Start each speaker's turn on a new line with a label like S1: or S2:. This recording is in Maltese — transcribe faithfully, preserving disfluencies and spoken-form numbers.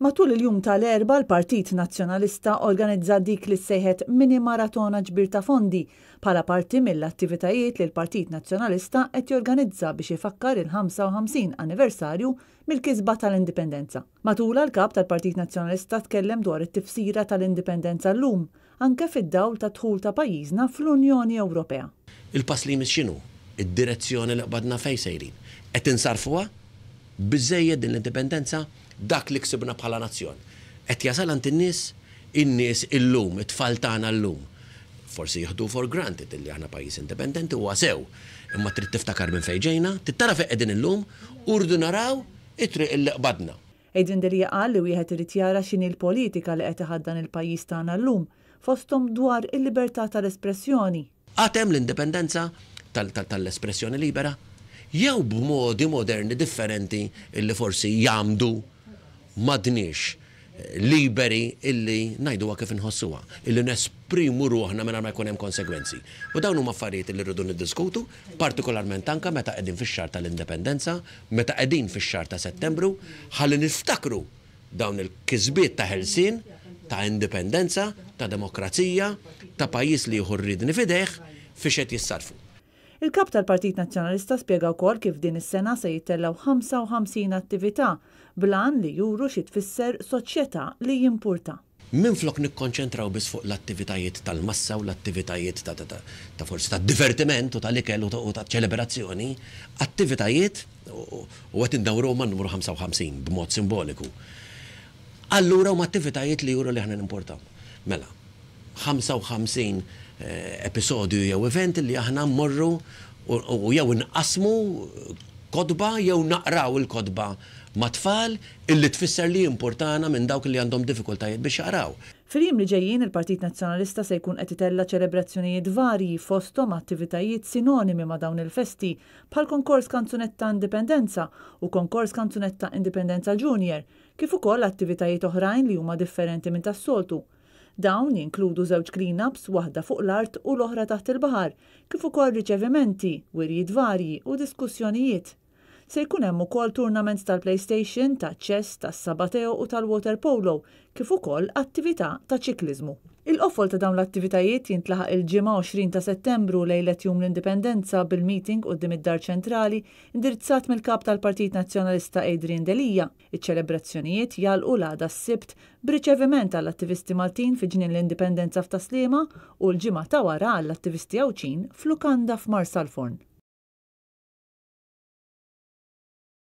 S1: Matul il-jum tal-Erbgħa, l-Partit Nazzjonalista organizza dik li sejħet mini maratona ġbir ta' fondi bħala parti mill-attivitajiet li l-Partit Nazzjonalista qed jorganizza biex ifakkar il-ħamsa u ħamsin anniversarju mill-kisba tal-Indipendenza. Matulha, l-kap tal-Partit Nazzjonalista tkellem dwar it-tifsira tal-Indipendenza llum, anke fid-dawl ta' dħul ta' pajjiżna fl-Unjoni Ewropea.
S2: Il-pass li jmiss x'inhu? Id-direzzjoni li qbadna fejn sejrin? Qed insarfuha? Biżejjed din l-indipendenza? Dak li ksibna bħala nazzjon qed jasal għand in-nies? In-nies illum, it-tfal tagħna llum, forsi jieħdu for granted illi aħna pajjiż indipendenti, huwa sew. Imma trid tiftakar minn fejn ġejna, trid tara fejn qegħdin illum u rridu naraw it-triq illi qbadna.
S1: Adrian Delia qal li wieħed irid jara x'inhi l-politika li qed iħaddan il-pajjiż tagħna llum, fosthom dwar il-libertà tal-espressjoni.
S2: Għad hemm l-indipendenza tal-espressjoni libera? Jew b'modi moderni differenti illi forsi jagħmdu m'għadniex liberi illi ngħiduha kif inħossuha, illi nesprimu ruħna mingħajr ma jkun hemm konsegwenzi? U dawn huma affarijiet li rridu niddiskutu, partikolarment anka meta qegħdin fix-xahar tal-Indipendenza, meta qegħdin fix-xahar ta' Settembru, ħalli niftakru dawn il-kisbiet ta' ħelsien, ta' indipendenza, ta' demokrazija, ta' pajjiż li jieħu r-riedni f'idejh, fiex qed jissarfu.
S1: Il-kap tal-Partit Nazzjonalista spjega wkoll kif din is-sena se jittellgħu ħamsa u ħamsin attività bl-għan li juru xi tfisser soċjetà li jimpurta.
S2: Minflok nikkonċentraw biss fuq l-attivitajiet tal-massa u l-attivitajiet ta', ta, ta, ta forsi ta' divertiment u tal-ikel u ta', ta' ċelebrazzjoni, attivitajiet u qed indawru man numru ħamsa u ħamsin b'mod simboliku. Allura huma attivitajiet li juru li aħna nimportaw. Mela, ħamsa u ħamsin eh, episodju jew event li aħna mmorru u jew nqasmu kotba jew naqraw il-kotba mat-tfal, illi tfisser li importana minn dawk li għandhom diffikultajiet biex jaqraw.
S1: Fil-jiem li ġejjin, il-Partit Nazzjonalista se jkun qed itella' ċelebrazzjonijiet varji, fosthom attivitajiet sinonimi ma' dawn il-festi bħal konkors Kanzunetta Indipendenza u konkors Kanzunetta Indipendenza Junior, kif ukoll attivitajiet oħrajn li huma differenti minn tas-soltu. Dawn jinkludu żewġ clean-ups, waħda fuq l-art u l-oħra taħt il-baħar, kif ukoll riċevimenti, wirjiet varji u diskussjonijiet. Se jkun hemm ukoll tournaments tal-PlayStation, ta' chess, tas-Subbuteo u tal-water polo, kif ukoll attività ta' ċikliżmu. Il-qofol ta' dawn l-attivitajiet jintlaħaq il-Ġimgħa għoxrin ta' Settembru, lejlet Jum l-Indipendenza, bil-meeting quddiem id-Dar Ċentrali indirizzat mill-kap tal-Partit Nazzjonalista Adrian Delia. Iċ-ċelebrazzjonijiet jagħlqu l-għada s-Sibt b'riċeviment għall-attivisti Maltin fi Ġnien l-Indipendenza f'Tas-Sliema u l-ġimgħa ta' wara għall-attivisti Għawdxin f'Lukanda f'Marsalforn.